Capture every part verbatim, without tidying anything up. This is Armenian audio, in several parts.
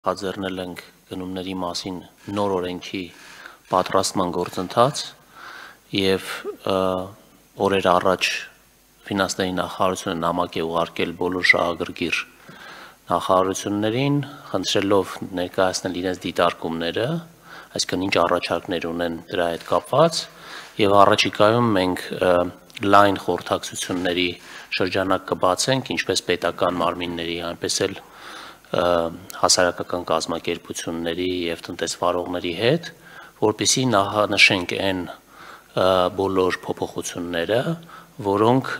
Հաձեռնել ենք գնումների մասին նոր օրենքի պատրաստման գործընթաց եւ օրեր առաջ ֆինանսների նախարարությունը նամակ է ուղարկել բոլոր շահագրգիռ նախարարություններին, խնդրելով ներկայացնել իրենց դիտարկումները, այսինքն ինչ առաջարկներ ունեն դրա հետ կապված, եւ առաջիկայում մենք լայն խորհրդակցությունների շրջանակ կբացենք ինչպես պետական մարմինների, այնպես էլ հասարակական կազմակերպությունների եւ տնտեսվարողների հետ, որպեսզի նախանշենք այն բոլոր փոփոխությունները, որոնք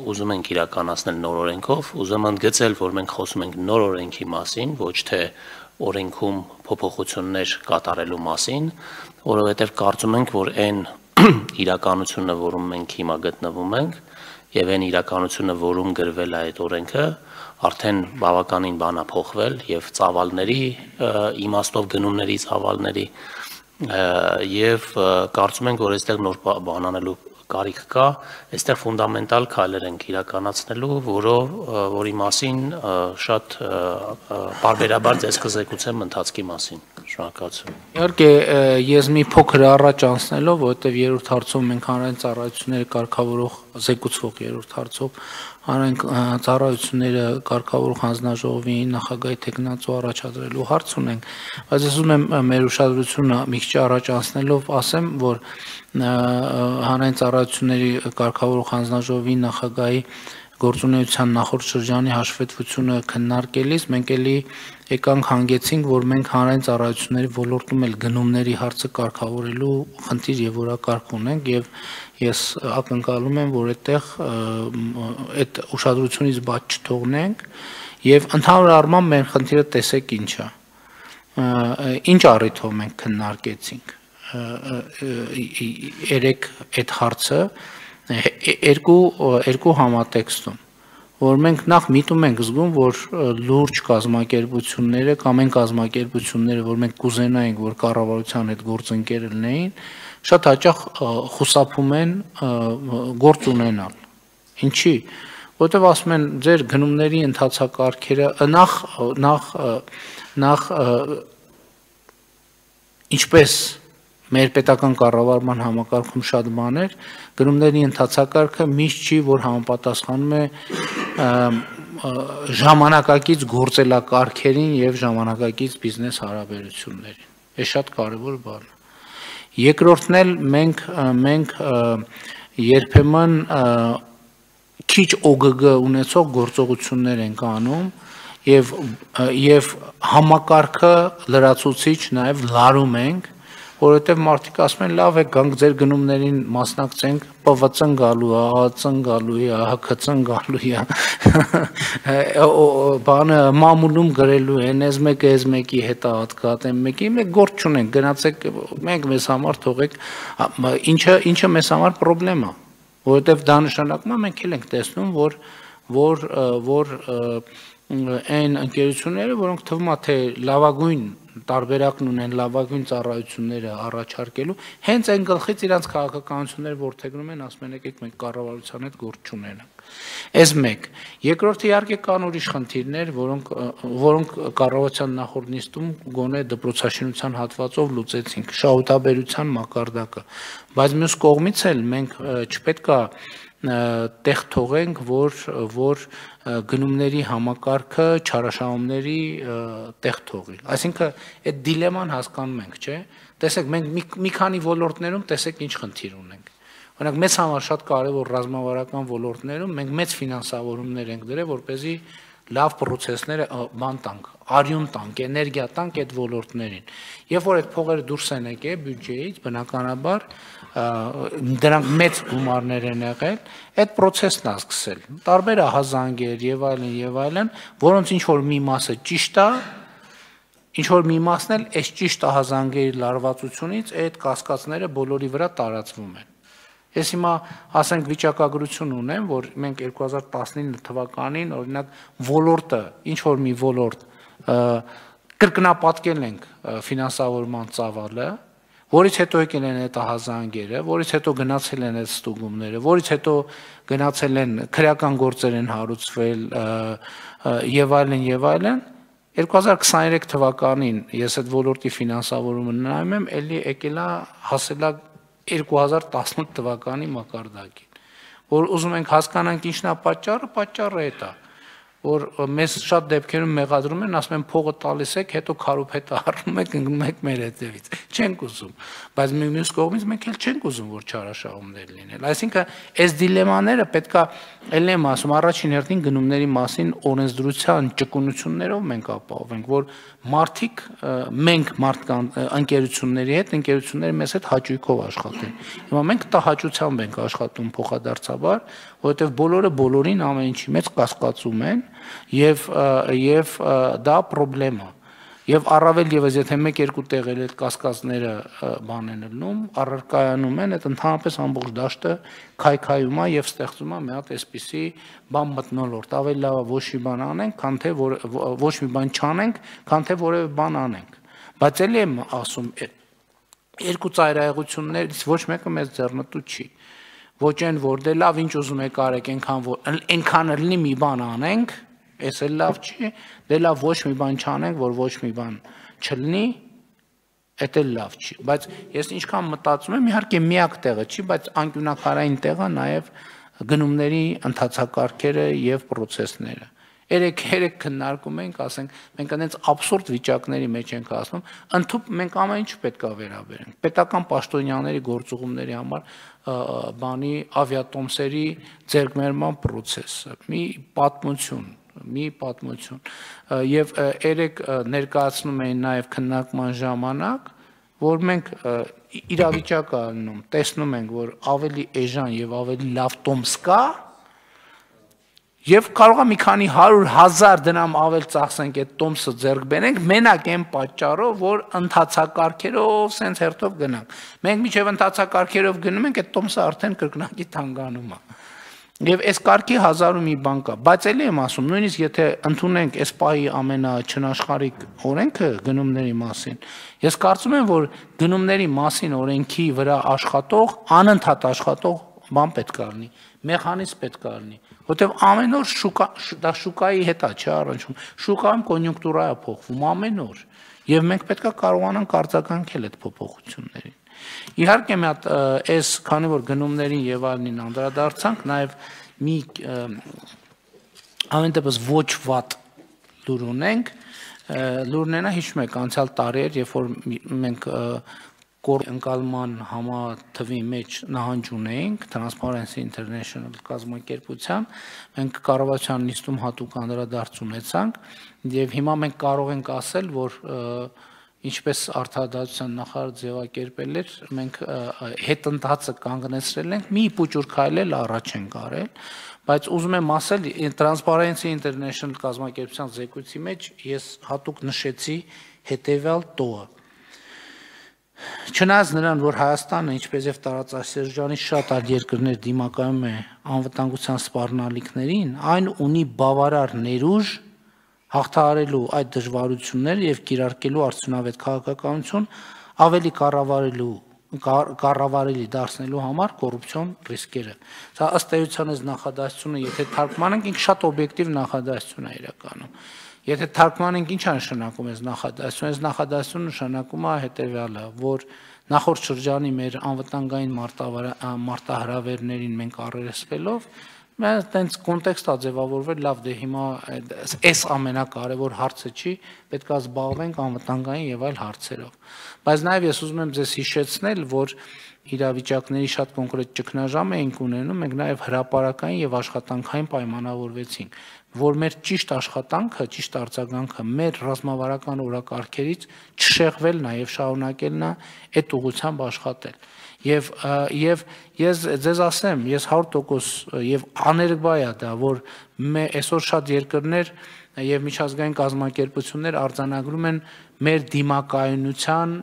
ուզում ենք իրականացնել նոր օրենքով, ուզում եմ ընդգծել, որ մենք խոսում ենք նոր օրենքի մասին, ոչ թե օրենքում փոփոխություններ կատարելու մասին, որովհետեւ կարծում ենք, որ այն իրականությունը, որում մենք հիմա գտնվում ենք, եւ այն իրականությունը, որում գրվել է այդ օրենքը, արդեն բավականին բան է փոխվել եւ ծավալների իմաստով գնումների ծավալների եւ կարծում ենք, որ այստեղ նոր բան անելու կարիք կա, այստեղ ֆունդամենտալ քայլեր ենք իրականացնելու, որով որի մասին շատ բարբերաբար ձեզ կզեկուցեմ ընթացքի մասին։ Շնորհակալություն։ Իհարկե, ես մի փոքր առաջ անցնելով, որովհետև երրորդ հարցում մենք հանրային ծառայությունները կարգավորող զեկուցվող երրորդ հարցով հանրային ծառայությունները կարգավորող հանձնաժողովի նախագահի թեկնածու առաջադրելու հարց ունենք, բայց ես ուզում եմ մեր ուշադրությունը մի քիչ առաջ անցնելով ասեմ, որ հանրային ծառայությունների կարգավորող հանձնաժողովի նախագահի գործունեության նախորդ շրջանի հաշվետվությունը քննարկելիս մենք էլի եկանք հանգեցինք, որ մենք հանրային ծառայությունների ոլորտում էլ գնումների հարցը կարգավորելու խնդիր եւ որակարգ ունենք եւ ես ակնկալում եմ, որ այդտեղ այդ ուշադրությունից բաց չթողնենք եւ ընդհանուր առմամբ մեր խնդիրը տեսեք ինչ է։ Ինչ առիթով մենք քննարկեցինք երեք այդ հարցը երկու երկու համատեքստում, որ մենք նախ միտում ենք զգում, որ լուրջ կազմակերպությունները կամ այն կազմակերպությունները, որ մենք կուզենայինք, որ կառավարության հետ գործընկեր լինեին, շատ հաճախ խուսափում են գործ ունենալ։ Ինչի՞։ Որտեւ ասում են, ձեր գնումների ընթացակարգերը նախ նախ նախ ինչպես մեր պետական կառավարման համակարգում շատ բաներ, գնումների ընթացակարգը միշտ չի, որ համապատասխանում է ժամանակակից գործելակարգերին եւ ժամանակակից բիզնես հարաբերություններին։ Այս շատ կարեւոր բան է։ Երկրորդն էլ մենք մենք երբեմն քիչ օ գ գ ունեցող գործողություններ ենք անում եւ եւ համակարգը լրացուցիչ նաեւ լարում ենք, որովհետև մարդիկ ասում են լավ է գանք ձեր գնումներին մասնակցենք, Պ V C-ն գալու է, Ա C-ն գալու է, H K C-ն գալու է, բանը մամուլում գրելու են, այս մեկը այս մեկի հետ հատկատ են մեկի, մենք գործ չունենք, գնացեք, մենք մեզ համար թողեք, ինչը ինչը մեզ համար խնդրեմ է, որովհետև դա նշանակում է մենք էլ ենք տեսնում, որ որ որ այն ընկերությունները, որոնք թվում է թե լավագույն տարբերակն ունեն լավագույն ծառայությունները առաջարկելու, հենց այն գլխից իրանց քաղաքականությունները ворթեգնում են, ասում են եկեք մենք կառավարության հետ գործ չունենանք։ Այս մեկ։ Երկրորդը իհարկե կան ուրիշ խնդիրներ, որոնք որոնք կառավարության նախորդ նիստում գոնե դպրոցաշինության հատվածով լուծեցինք, շահութաբերության մակարդակը, բայց մյուս կողմից էլ մենք չպետք է տեղ թողենք, որ որ գնումների համակարգը չարաշահումների տեղ թողի։ Այսինքն այդ դիլեման հասկանում ենք, չէ՞։ Տեսեք, մենք մի քանի ոլորտներում տեսեք ինչ խնդիր ունենք։ Օրինակ մեծ համար շատ կարևոր ռազմավարական ոլորտներում մենք մեծ ֆինանսավորումներ ենք դրել, որպեսզի լավ պրոցեսները բան տանք, արյուն տանք, էներգիա տանք այդ ոլորտներին։ Երբ որ այդ փողերը դուրս են եկել բյուջեից, բնականաբար դրանք մեծ գումարներ են եղել, այդ process-ն է սկսել։ Տարբեր ահազանգեր եւ այլն եւ այլն, որոնց ինչ որ մի մասը ճիշտ է, ինչ որ մի մասն էլ այս ճիշտ ահազանգերի լարվածությունից այդ կասկածները բոլորի վրա տարածվում են։ Ես հիմա ասենք վիճակագրություն ունեմ, որ մենք երկու հազար տասնինը թվականին օրինակ ոլորտը, ինչ որ մի ոլորտ կրկնապատկել ենք ֆինանսավորման ծավալը, որից հետո եկել են այդ ահազանգերը, որից հետո գնացել են այդ ստուգումները, որից հետո գնացել են քրեական գործեր են հարուցվել եւ այլն եւ այլն, երկու հազար քսաներեք թվականին ես այդ ոլորտի ֆինանսավորումը նայում եմ, էլի եկել է հասել է երկու հազար տասնութ թվականի մակարդակին, որ ուզում ենք հասկանանք ինչն է պատճառը, պատճառը է դա, որ մեզ շատ դեպքերում մեղադրում են, ասում են փողը տալիս եք, հետո քարոփետը առնում եք, ընկնում եք մեր հետևից։ Չենք ուզում, բայց մյուս կողմից մենք էլ չենք ուզում, որ չարաշահումներ լինեն։ Այսինքն, այս դիլեմաները պետքա ելն եմ ասում, առաջին հերթին գնումների մասին օրենսդրության ճկունություններով մենք ապահովենք, որ մարդիկ մենք մարդկանց ընկերությունների հետ, ընկերությունները մեզ հետ հաճույքով աշխատեն։ Հիմա մենք տհաճությամբ ենք աշխատում փոխադարձաբար, որովհետև բոլորը բոլորին ամեն ինչի մեջ կասկածում են եւ եւ դա խնդրեմ է։ Եվ առավել եւս եթե մեկ-երկու տեղել այդ կասկածները բան են լնում, առարկայանում են, այդ ընդհանրապես ամբողջ դաշտը քայքայում է եւ ստեղծում է մի հատ այսպիսի բան մթնոլորտ, ավելի լավ է ոչ մի բան անենք, քան թե ոչ մի բան չանենք, քան թե որևէ բան անենք։ Բայց ելի եմ ասում, երկու ծայրահեղություններից ոչ մեկը մեզ ձեռնտու չի։ Ոչ այն որ դե լավ ինչ ուզում եք արեք, այնքան որ այնքան լինի մի բան անենք, այս էլ լավ չի, դե լավ ոչ մի բան չանենք, որ ոչ մի բան չլինի, այդ էլ լավ չի, բայց ես ինչքան մտածում եմ, իհարկե միակ տեղը չի, բայց անկյունակարային տեղը նաև գնումների ընթացակարգերը եւ պրոցեսները։ Երեք երեք քննարկում ենք, ասենք, մենք այնց աբսուրդ վիճակների մեջ ենք ասում, ընդհանուր մենք ամեն ինչ պետք է վերաբերենք։ Պետական պաշտոնյաների գործուղումների համար բանի ավիատոմսերի ձեռքբերման process-ը, մի պատմություն, մի պատմություն։ Եվ երեք ներկայացնում էին նաև քննարկման ժամանակ, որ մենք իրավիճակը անում, տեսնում ենք, որ ավելի էժան եւ ավելի լավ տոմս կա, եւ կարող է մի քանի հարյուր հազար դրամ ավել ծախսենք այդ տոմսը ձեռք բերենք, մենակ այն պատճառով, որ ընթացակարգերով սենց հերթով գնանք։ Մենք միջև ընթացակարգերով գնում ենք, այդ տոմսը արդեն կրկնակի թանկանում է։ Եվ այս կարգի հազար ու մի բան կա, բայց էլի եմ ասում, նույնիսկ եթե ընդունենք այս պահի ամենաչնաշխարհիկ օրենքը գնումների մասին, ես կարծում եմ, որ գնումների մասին օրենքի վրա աշխատող, անընդհատ աշխատող բան պետք է լինի, մեխանիզմ պետք է լինի, որտեղ ամեն օր շուկա, դա շուկայի հետ է, չէ՞ առնչվում, շուկայում կոնյունկտուրա է փոխվում ամեն օր, եւ մենք պետք է կարողանանք արձագանքել այդ փոփոխություններին։ Իհարկե մի հատ այս քանի որ գնումներին եւ այլնին անդրադարձանք, նաեւ մի ամեն դեպս ոչ վատ լուր ունենք, լուրն է հիշում եք անցյալ տարիեր, երբ որ մենք կոր ընկալման համաթվի մեջ նահանջ ունեինք Transparency International կազմակերպության, մենք կառավարության նիստում հատուկ անդրադարձ ունեցանք եւ հիմա մենք կարող ենք ասել, որ ինչպես արդարադատության նախարար ձևակերպել էր, մենք հետընթացը կանգնեցրել ենք, մի փոճուր քայլել առաջ ենք արել, բայց ուզում եմ ասել, Transparency International կազմակերպության զեկույցի մեջ ես հատուկ նշեցի հետեւյալ տողը։ Չնայած նրան, որ Հայաստանը, ինչպես եւ տարածաշրջանի շատ այլ երկրներ դիմակայում է անվտանգության սպառնալիքներին, այն ունի բավարար ներուժ հաղթահարելու այդ դժվարությունները եւ կիրարկելու արդյունավետ քաղաքականություն ավելի կառավարելու կառավարելի դարձնելու համար կոռուպցիոն ռիսկերը։ Սա ըստ էության այս նախադասությունը, եթե թարգմանենք, ինքը շատ օբյեկտիվ նախադասություն է իրականում։ Եթե թարգմանենք, ինչ է նշանակում այս նախադասությունը, այս նախադասությունը նշանակում է հետեւյալը, որ նախորդ շրջանի մեր անվտանգային մարտահրավերներին մենք առերեսվելով Մենք տենց կոնտեքստ է ձևավորվել, լավ դե հիմա այս ամենակարևոր հարցը չի, պետք է զբաղվենք անվտանգային եւ այլ հարցերով։ Բայց նաեւ ես ուզում եմ ձեզ հիշեցնել, որ իրավիճակների շատ կոնկրետ ճգնաժամ էինք ունենում, մենք նաեւ հրապարակային եւ աշխատանքային պայմանավորվեցինք, որ մեր ճիշտ աշխատանքը, ճիշտ արձագանքը մեր ռազմավարական օրակարգերից չշեղվել նաեւ շարունակելն է այդ ուղղությամբ աշխատել։ Եվ եւ ես ձեզ ասեմ, ես հարյուր տոկոս եւ աներկբա է դա, որ այսօր շատ երկրներ եւ միջազգային կազմակերպություններ արձանագրում են մեր դիմակայունության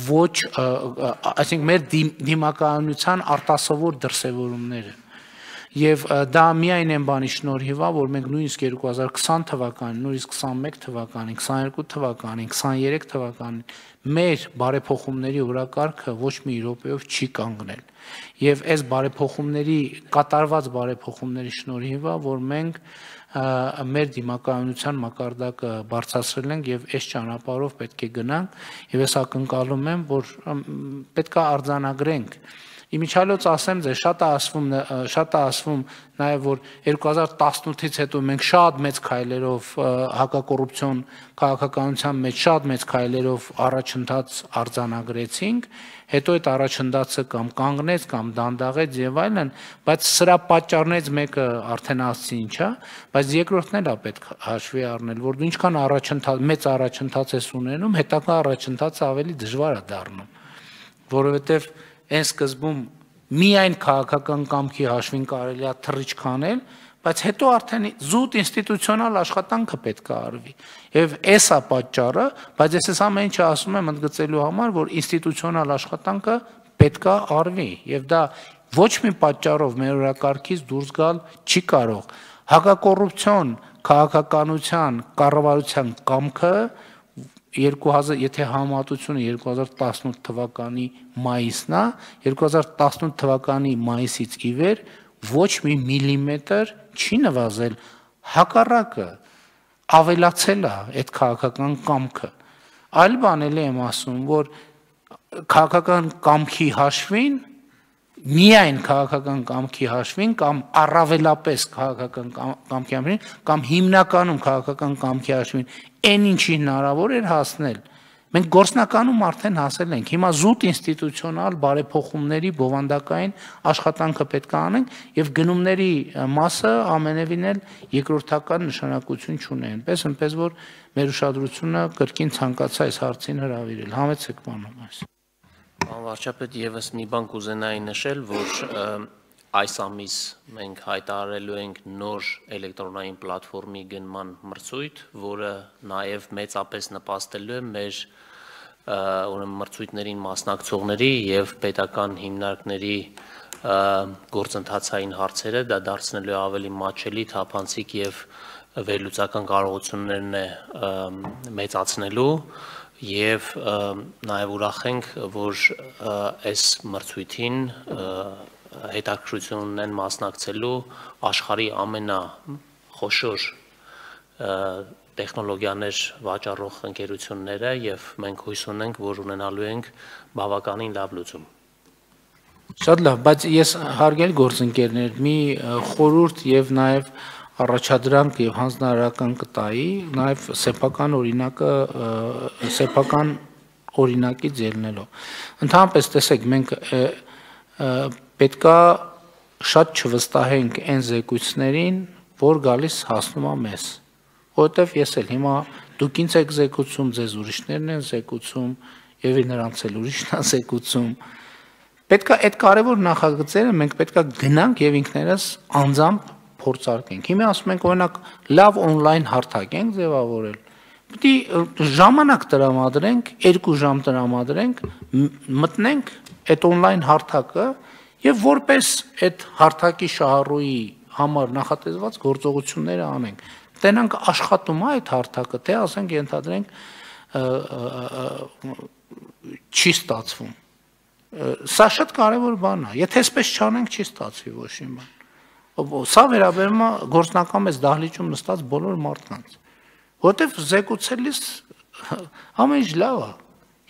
ոչ, այսինքն մեր դիմակայունության արտասովոր դրսևորումները։ Եվ դա միայն այն բանի շնորհիվ է, որ մենք նույնիսկ երկու հազար քսան թվականին, նույնիսկ քսանմեկ թվականին, քսաներկու թվականին, քսաներեք թվականին մեր բարեփոխումների օրակարգը ոչ մի րոպեով չի կանգնել։ Եվ այս բարեփոխումների կատարված բարեփոխումների շնորհիվ է, որ մենք մեր դիմակայունության մակարդակը բարձրացրել ենք եւ այս ճանապարհով պետք է գնանք եւ ես ակնկալում եմ, որ պետք է արձանագրենք Իմիջիայլոց ասեմ ձեզ, շատ է ասվում, շատ է ասվում նաև, որ երկու հազար տասնութից հետո մենք շատ մեծ քայլերով հակակոռուպցիոն քաղաքականության մեջ շատ մեծ քայլերով առաջընթաց արձանագրեցինք, հետո այդ առաջընթացը կամ կանգնեց, կամ դանդաղեց եւ այլն, բայց սրա պատճառներից մեկը արդեն ասացի ինչ է, բայց երկրորդն էլ է պետք հաշվի առնել, որ դու ինչքան առաջընթաց, մեծ առաջընթաց ես ունենում, հետագա առաջընթացը ավելի դժվար է դառնում, որովհետեւ Այն սկզբում միայն քաղաքական կամքի հաշվին կարելի է թռիչք քանել, բայց հետո արդեն զուտ ինստիտուցիոնալ աշխատանքը պետք է արվի։ Եվ այս է պատճառը, բայց ես այս ամեն ինչը ասում եմ ընդգծելու համար, որ ինստիտուցիոնալ աշխատանքը պետք է արվի, եւ դա ոչ մի պատճառով մեր օրակարգից դուրս գալ չի կարող։ Հակակոռուպցիոն քաղաքականության կառավարության կամքը երկու հազար եթե համատությունը երկու հազար տասնութ թվականի մայիսն է, երկու հազար տասնութ թվականի մայիսից ի վեր ոչ մի միլիմետր չի նվազել, հակառակը ավելացել է այդ քաղաքական կամքը։ Այլ բան էլ եմ ասում, որ քաղաքական կամքի հաշվին միայն քաղաքական կամքի հաշվին կամ առավելապես քաղաքական կամքի հաշվին կամ հիմնականում քաղաքական կամքի հաշվին այն ինչի հնարավոր էր հասնել մենք գործնականում արդեն հասել ենք հիմա զուտ ինստիտուցիոնալ բարեփոխումների բովանդակային աշխատանքը պետք է անենք եւ գնումների մասը ամենևին էլ երկրորդական նշանակություն չունի այնպես այնպես որ մեր ուշադրությունը կրկին ցանկացա այս հարցին հրավիրել համեցեք բանում այս Պարոն վարչապետ, եւս մի բան կուզենայի նշել, որ այս ամիս մենք հայտարարելու ենք նոր էլեկտրոնային պլատֆորմի գնման մրցույթ, որը նաեւ մեծապես նպաստելու է մեր ուրեմն մրցույթներին մասնակցողների եւ պետական հիմնարկների գործընթացային հարցերը դա դարձնելու ավելի մատչելի, թափանցիկ եւ վերլուծական կարողություններն է մեծացնելու Եվ նաև ուրախ ենք, որ այս մրցույթին հետաքրքրություն ունեն մասնակցելու աշխարհի ամենախոշոր տեխնոլոգիաներ վաճառող ընկերությունները եւ մենք հույս ունենք, որ ունենալու ենք բավականին լավ լուծում։ Շատ լավ, բայց ես հարգելի գործընկերներ, մի խորհուրդ եւ նաև առաջադրանք եւ հանձնարարական կտայի նաեւ սեփական օրինակը սեփական օրինակից ելնելով ընդհանրապես տեսեք մենք պետքա շատ չվստահենք այն զեկույցներին որ գալիս հասնում է մեզ որովհետեւ ես էլ հիմա դուք ինձ եք զեկուցում ձեզ ուրիշներն են զեկուցում եւ նրանց էլ ուրիշն է զեկուցում պետքա այդ կարևոր նախագծերը մենք պետքա գնանք եւ ինքներս անձամբ փորձարկենք։ Հիմա ասում ենք օրինակ լավ on-line հարթակ ենք ձևավորել։ Պետք է ժամանակ տրամադրենք, երկու ժամ տրամադրենք, մտնենք այդ on-line հարթակը եւ որպես այդ հարթակի շահառուի համար նախատեսված գործողությունները անենք։ Տենանք աշխատում է այդ հարթակը, թե ասենք ենթադրենք չի ստացվում։ Սա շատ կարևոր բան է։ Եթե այսպես չանենք, չի ստացվի ոչ մի բան։ Սա վերաբերում է գործնական մեծ դահլիճում նստած բոլոր մարդկանց։ Որտեվ զեկուցելիս ամեն ինչ լավ է։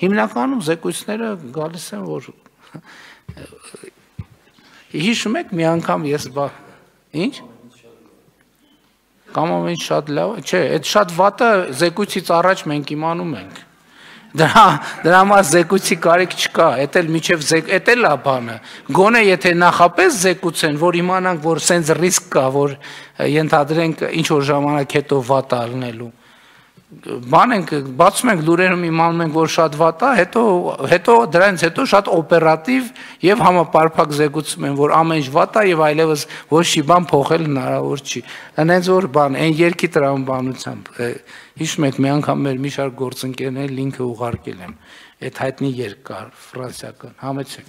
Հիմնականում զեկույցները գալիս են, որ հիշում եք մի անգամ ես բա ինչ կամ ամեն ինչ շատ լավ է, չէ, այդ շատ վատը զեկույցից առաջ մենք իմանում ենք։ Դրա դրա համար զեկույցի կարիք չկա, էդ էլ միջև էդ էլ է բանը։ Գոնե եթե նախապես զեկուցեն, որ իմանանք, որ սենց ռիսկ կա, որ ենթադրենք ինչ որ ժամանակ հետո վատ ալնելու։ Բան ենք, բացում ենք լուրերում իմանում ենք, որ շատ վատ է, հետո հետո դրանից հետո շատ օպերատիվ եւ համապարփակ զեկուցում են, որ ամեն ինչ վատ է եւ այլևս ոչ մի բան փոխել հնարավոր չի։ Հենց որ բան, այն երկի տրամաբանությամբ Հիշում եք, մի անգամ մեր մի շարք գործընկերներ լինքը ուղարկել եմ, այդ հայտնի երկար, ֆրանսիական, համեցեք։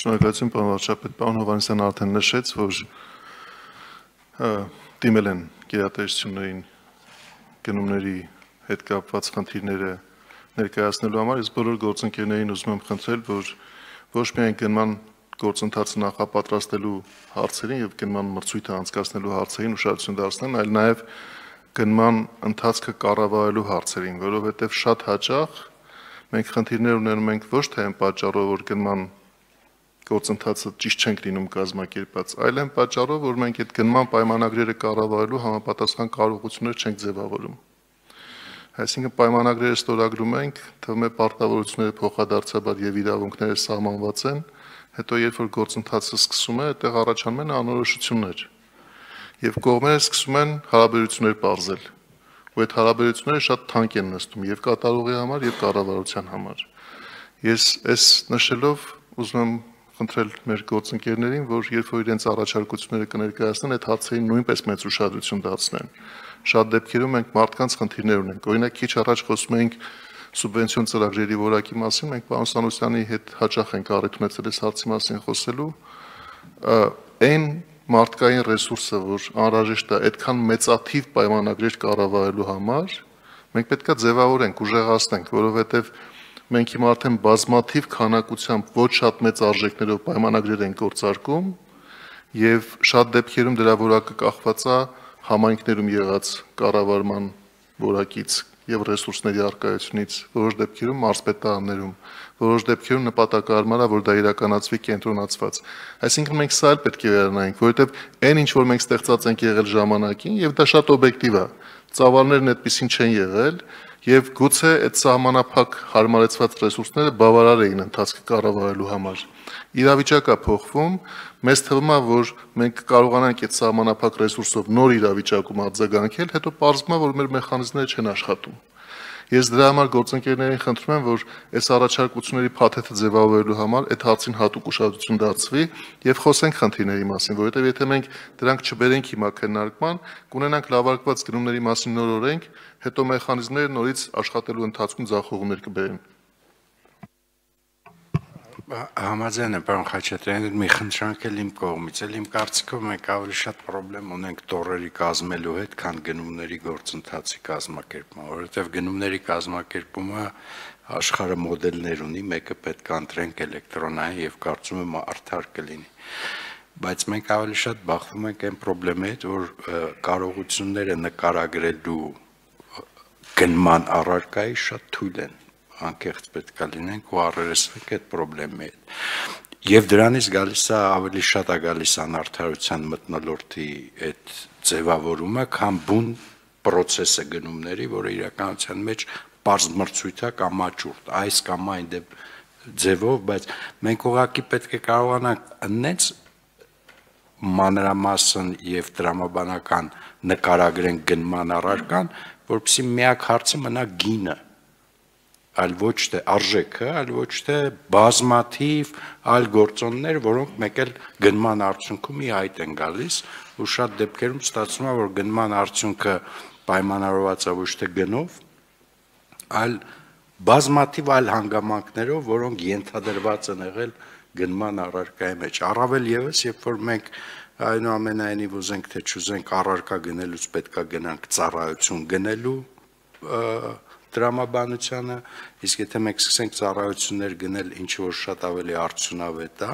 Շնորհակալություն, պարոն վարչապետ, պարոն Հովհաննիսյանը արդեն նշեց, որ դիմել են գերատեսչություններին գնումների հետ կապված խնդիրները ներկայացնելու համար, ես բոլոր գործընկերներին ուզում եմ խնդրել, որ ոչ միայն գնման գործընթացը նախապատրաստելու հարցերին եւ գնման մրցույթը անցկացնելու հարցերին ուշադրություն դարձնեն, այլ նաեւ գնման ընթացքը կառավարելու հարցերին, որովհետեւ շատ հաճախ մենք խնդիրներ ունենում ենք ոչ թե այն պատճառով, որ գնման գործընթացը ճիշտ չենք լինում կազմակերպած, այլ այն պատճառով, որ մենք այդ գնման պայմանագրերը կառավարելու համապատասխան կարողություններ չենք ձևավորում։ Այսինքն պայմանագրերը ստորագրում ենք, թվում է պարտավորությունները փոխադարձաբար եւ իրավունքները սահմանված են, հետո երբ որ գործընթացը սկսում է, այդտեղ առաջանում են անորոշություններ։ Եվ կողմերը սկսում են հարաբերություններ պարզել։ Ու այդ հարաբերությունները շատ թանկ են նստում եւ կատարողի համար եւ կառավարության համար։ Ես այս նշելով ուզում եմ խնդրել մեր գործընկերներին, որ երբ որ իրենց առաջարկությունները կներկայացնեն, այդ հարցերին նույնպես մեծ ուշադրություն դարձնեն։ Շատ դեպքերում մենք մարդկանց խնդիրներ ունենք։ Օրինակ քիչ առաջ խոսում էինք սուբվենցիոն ծրագրերի որակի մասին, մենք պարոն Սանոսյանի հետ հաճախ ենք առիթ ունեցել այս հարցի մասին խոսելու։ Այն մարդկային ռեսուրսը, որ անհրաժեշտ է այդքան մեծաթիվ պայմանագրեր կառավարելու համար, մենք պետք է ձևավորենք, ուժեղացնենք, որովհետև մենք հիմա արդեն բազմաթիվ քանակությամբ ոչ շատ մեծ արժեքներով պայմանագրեր են գործարկում եւ շատ դեպքերում դրա որակը կախված է համայնքներում եղած կառավարման որակից եւ ռեսուրսների առկայությունից, որոշ դեպքերում մարզպետարաններում, որոշ դեպքերում նպատակարարման է, որ դա իրականացվի կենտրոնացված։ Այսինքն մենք սա էլ պետք է վերանայենք, որովհետեւ այն ինչ որ մենք ստեղծած ենք եղել ժամանակին եւ դա շատ օբյեկտիվ է։ Ծավալներն այդպեսին չեն եղել եւ գուցե այդ սահմանափակ հարմարեցված ռեսուրսները բավարար էին ընթացքը կառավարելու համար։ Իրավիճակը փոխվում, մեզ թվում է, որ մենք կարողանանք այդ սահմանափակ ռեսուրսով նոր իրավիճակում արձագանքել, հետո պարզվում է, որ մեր մեխանիզմները չեն աշխատում։ Ես դրա համար գործընկերներին խնդրում եմ, որ այս առաջարկությունների փաթեթը ձևավորելու համար այդ հարցին հատուկ ուշադրություն դարձվի եւ խոսենք խնդիրների մասին, որովհետեւ եթե մենք դրանք չբերենք հիմա քննարկման, կունենանք լավարկված գնումների մասին նոր օրենք, հետո մեխանիզմները նորից աշխատելու ընթացքում ձախողումներ կբերեն։ Համաձայն եմ, պարոն Խաչատրյան, մի խնդրանք էլ իմ կողմից, էլ իմ կարծիքով մենք ավելի շատ խնդրեմ ունենք տոռերի կազմելու հետ, քան գնումների գործընթացի կազմակերպման, որովհետև գնումների կազմակերպումը աշխարհը մոդելներ ունի, մեկը պետք է ընտրենք էլեկտրոնային եւ կարծում եմ արդար կլինի։ Բայց մենք ավելի շատ բախվում ենք այն խնդրի հետ, որ կարողությունները նկարագրելու գնման առարկայի շատ թույլ են, անկեղծ պետք է լինենք ու առերեսվենք այդ խնդրի հետ։ Եվ դրանից գալիս է ավելի շատ է գալիս անարդարության մթնոլորտի այդ ձևավորումը, քան բուն process-ը գնումների, որը իրականության մեջ պարզ մրցույթ է կամ աճուրդ, այս կամ այն ձևով, բայց մենք ուղղակի պետք է կարողանանք այնց մանրամասն եւ տրամաբանական նկարագրենք գնման առարկան, որպեսզի միակ հարցը մնա գինը, այլ ոչ թե արժեքը, այլ ոչ թե բազմաթիվ այլ գործոններ, որոնք մեկ էլ գնման արդյունքում ի հայտ են գալիս, ու շատ դեպքերում ստացվում է, որ գնման արդյունքը պայմանավորված է ոչ թե գնով, այլ բազմաթիվ այլ հանգամանքներով, որոնք ենթադրված են եղել գնման առարկայի մեջ։ Առավել եւս, երբ որ մենք այնուամենայնիվ ուզենք թե չուզենք առարկա գնելուց պետք է գնանք ծառայություն գնելու տրամաբանությանը, իսկ եթե մենք սկսենք ծառայություններ գնել, ինչ որ շատ ավելի արդյունավետ է,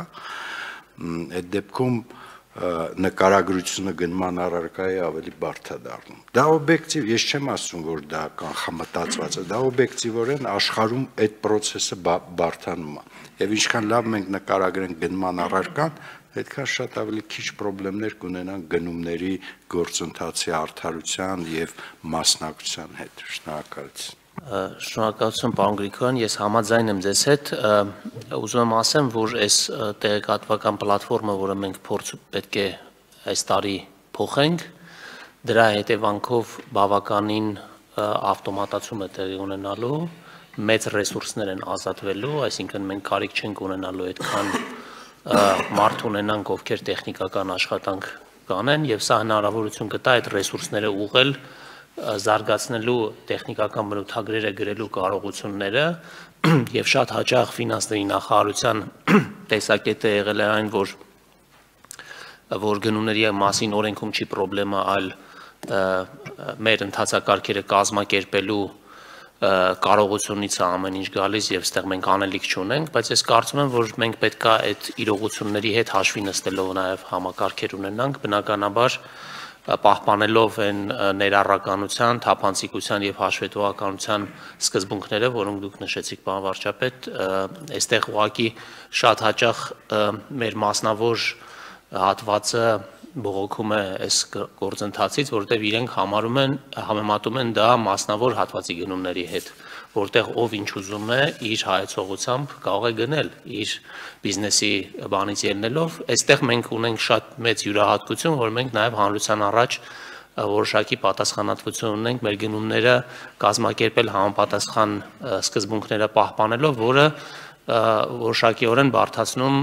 այդ դեպքում նկարագրությունը գնման առարկայի ավելի բարդ է դառնում։ Դա օբյեկտիվ, ես չեմ ասում, որ դա կանխամտածված է, դա օբյեկտիվորեն աշխարհում այդ process-ը բարդանում է։ Եվ ինչքան լավ մենք նկարագրենք գնման առարկան, այդքան շատ ավելի քիչ խնդիրներ կունենան գնումների գործընթացի արդարության եւ մասնակցության հետ։ Շնորհակալություն։ Շնորհակալություն, պարոն Գրիգորյան, ես համաձայն եմ ձեզ հետ, ուզում եմ ասեմ, որ այս տեղեկատվական պլատֆորմը, որը մենք փորձ պետք է այս տարի փոխենք, դրա հետևանքով բավականին ավտոմատացում է տեղի ունենալու, մեծ ռեսուրսներ են ազատվելու, այսինքն մենք կարիք չենք ունենալու այդքան մարդ ունենանք, ովքեր տեխնիկական աշխատանք կանեն, եւ սա հնարավորություն կտա այդ ռեսուրսները ուղղել զարգացնելու տեխնիկական բնութագրերը գրելու կարողությունները եւ շատ հաճախ ֆինանսների նախարարության տեսակետը եղել է այն, որ որ գնումների մասին օրենքում չի խնդրեմը, այլ մեր ընթացակարգերը կազմակերպելու կարողությունից է ամեն ինչ գալիս եւ այստեղ մենք անելիք չունենք, բայց ես կարծում եմ, որ մենք պետքա այդ իրողությունների հետ հաշվի նստելով նաեւ համակարգեր ունենանք, բնականաբար պահպանելով այն ներառականության, թափանցիկության եւ հաշվետվողականության սկզբունքները, որոնք դուք նշեցիք, պարոն վարչապետ, այստեղ ուղղակի շատ հաճախ մեր մասնավոր հատվածը բողոքում է այս գործընթացից, որտեղ իրենք համարում են, համեմատում են դա մասնավոր հատվածի գնումների հետ, որտեղ ով ինչ ուզում է իր հայեցողությամբ կարող է գնել իր բիզնեսի բանից ելնելով, այստեղ մենք ունենք շատ մեծ յուրահատկություն, որ մենք նաև հանրության առաջ որոշակի պատասխանատվություն ունենք մեր գնումները կազմակերպել համապատասխան սկզբունքները պահպանելով, որը որոշակիորեն բարդացնում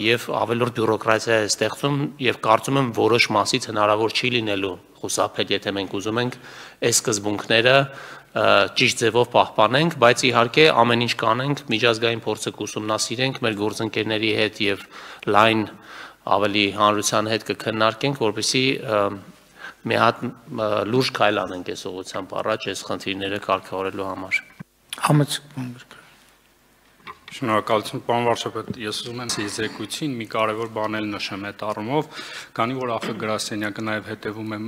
եւ ավելորդ բյուրոկրատիա է ստեղծում եւ կարծում եմ որոշ մասից հնարավոր չի լինելու խուսափել, եթե մենք ուզում ենք այս սկզբունքները ճիշտ ձևով պահպանենք, բայց իհարկե ամեն ինչ կանենք, միջազգային փորձը կուսումնասիրենք, մեր գործընկերների հետ եւ լայն ավելի հանրության հետ կքննարկենք, որպեսզի մի հատ լուրջ քայլ անենք այս ուղղությամբ առաջ այս խնդիրները կարգավորելու համար։ Համեցեք։ Շնորհակալություն, պարոն վարչապետ, ես ուզում եմ զեկույցին մի կարևոր բան էլ նշեմ այդ առումով, քանի որ ԱԽ գրասենյակը նաև հետևում է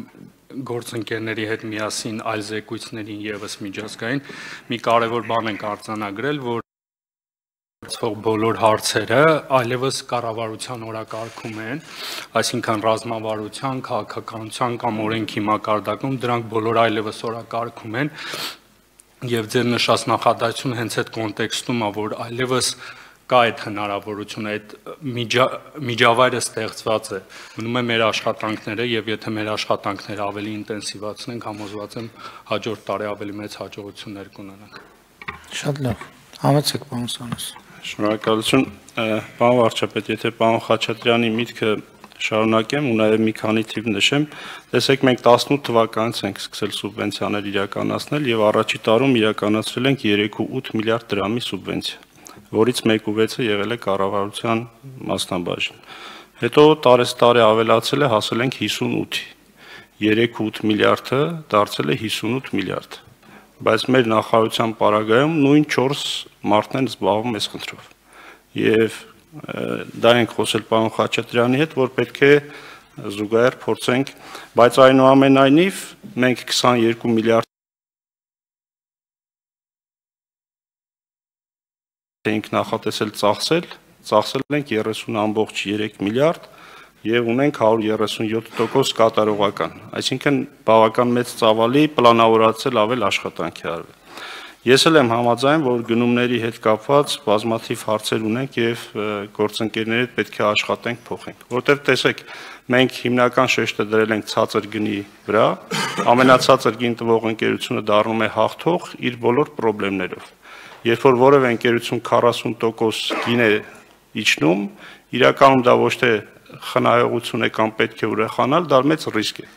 գործընկերների հետ միասին այլ զեկույցներին եւս միջազգային, մի կարևոր բան ենք արձանագրել, որ բոլոր հարցերը այլևս կառավարության օրակարգում են, այսինքն ռազմավարության, քաղաքականության կամ օրենքի մակարդակում դրանք բոլոր այլևս օրակարգում են եւ ձեր նշած նախադասությունը հենց այդ կոնտեքստում է, որ այլևս կա այդ հնարավորությունը, այդ միջավայրը ստեղծված է, մնում է մեր աշխատանքները եւ եթե մեր աշխատանքները ավելի ինտենսիվացնենք, համոզված եմ հաջորդ տարի ավելի մեծ հաջողություններ կունենանք։ Շատ լավ։ Համեցեք, պարոն Սանոս։ Շնորհակալություն, պարոն վարչապետ, եթե պարոն Խաչատրյանի միտքը շարունակեմ ու նաև մի քանի թիվ նշեմ, տեսեք մենք տասնութ թվականից ենք սկսել սուբվենցիաներ իրականացնել եւ առաջի տարում իրականացրել ենք երեք ու ութ միլիարդ դրամի սուբվենցիա, որից մեկ ու վեցը եղել է կառավարության մասնաբաժին։ Հետո տարեստարի ավելացել է, հասել ենք հիսունութի, երեք ու ութ միլիարդը դարձել է հիսունութ միլիարդ, բայց մեր նախարարության պարագայում նույն չորս մարդն են զբաղվում այս խնդրով։ Եվ դա ենք խոսել պարոն Խաչատրյանի հետ, որ պետք է զուգահեռ փորձենք, բայց այնուամենայնիվ մենք քսաներկու միլիարդ ենք նախատեսել ծախսել, ծախսել ենք երեսուն ամբողջ երեք միլիարդ եւ ունենք հարյուր երեսունյոթ տոկոս կատարողական, այսինքն բավական մեծ ծավալի պլանավորացել ավել աշխատանքի արվել։ Ես էլ եմ համաձայն, որ գնումների հետ կապված բազմաթիվ հարցեր ունենք եւ գործընկերների հետ պետք է աշխատենք, փոխենք, որտեղ տեսեք, մենք հիմնական շեշտը դրել ենք ցածր գնի վրա, ամենացածր գին տվող ընկերությունը դառնում է հաղթող իր բոլոր խնդիրներով։ Երբ որ որևէ ընկերություն քառասուն տոկոս գին է իջնում, իրականում դա ոչ թե խնայողություն է կամ պետք է ուրախանալ, դա մեծ ռիսկ է։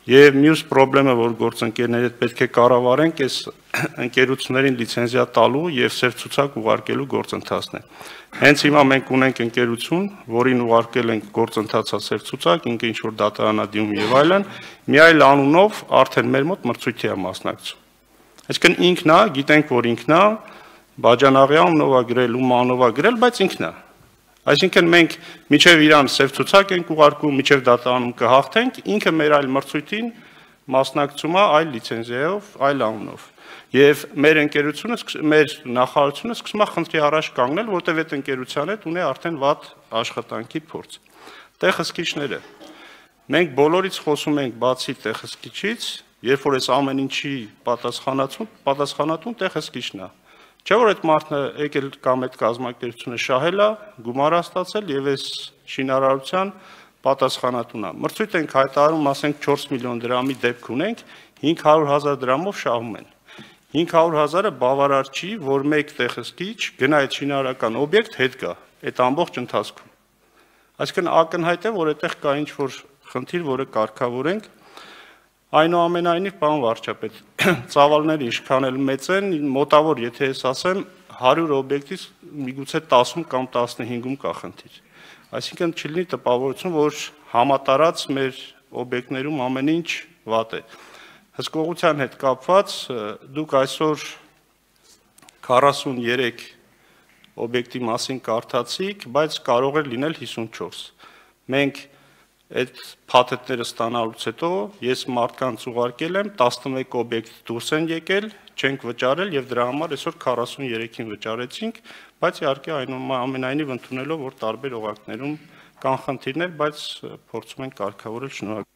Եվ մյուս խնդրեմը, որ գործընկերների հետ պետք է կառավարենք, այս ընկերություններին լիցենզիա տալու եւ սև ցուցակ ուղարկելու գործընթացն է։ Հենց հիմա մենք ունենք ընկերություն, որին ուղարկել ենք գործընթացա սև ցուցակ, ինքը ինչ որ դատարանադիմում եւ այլն, մի այլ անունով արդեն մեր մոտ մրցույթի է մասնակցում։ Այսինքն ինքն է, գիտենք, որ ինքն է, Բաջանաղյան նովա գրել ու մանովա գրել, բայց ինքն է։ Այսինքն մենք միջև իրան սև ցուցակ ենք ուղարկում, միջև դատարանում կհաղթենք, ինքը մեր այլ մրցույթին մասնակցում է այլ լիցենզիայով, այլ անունով։ Եվ մեր ընկերությունը, մեր նախարարությունը սկսում է խնդրի առաջ կանգնել, որտեղ այդ ընկերության հետ ունի արդեն վատ աշխատանքի փորձ։ Տեղհսկիչները։ Մենք բոլորից խոսում ենք բացի տեղհսկիչից, երբ որ այս ամեն ինչի պատասխանատուն, պատասխանատուն տեղհսկիչն է։ Չէ՞ որ այդ մարդը եկել կամ այդ կազմակերպությունը շահել է, գումար ստացել եւ այս շինարարության պատասխանատուն է։ Մրցույթ ենք հայտարարում, ասենք չորս միլիոն դրամի դեպք ունենք, հինգ հարյուր հազար դրամով շահում են։ հինգ հարյուր հազարը բավարար չի, որ մեկ տեղհսկիչ գնա այդ շինարարական օբյեկտ հետ գա այդ ամբողջ ընթացքում։ Այսինքն ակնհայտ է, որ այդտեղ կա ինչ-որ խնդիր, որը կարգավորենք։ Այնուամենայնիվ, պարոն վարչապետ, ծավալները ինչքան էլ մեծ են, մոտավոր, եթե ես ասեմ, հարյուր օբյեկտից միգուցե տասում կամ տասնհինգում կա խնդիր։ Այսինքն չլինի տպավորություն, որ համատարած մեր օբյեկտներում ամեն ինչ վատ է։ Հսկողության հետ կապված դուք այսօր քառասուններեք օբյեկտի մասին կարդացիք, բայց կարող էր լինել հիսունչորս։ Մենք այդ փաթեթները ստանալուց հետո ես մարդկանց ուղարկել եմ, տասնմեկ օբյեկտ դուրս են եկել, չենք վճարել եւ դրա համար այսօր քառասուններեքին վճարեցինք, բայց իհարկե այնուամենայնիվ ընդունելով, որ տարբեր օղակներում կան խնդիրներ, բայց փորձում ենք կարգավորել։ Շնորհակալ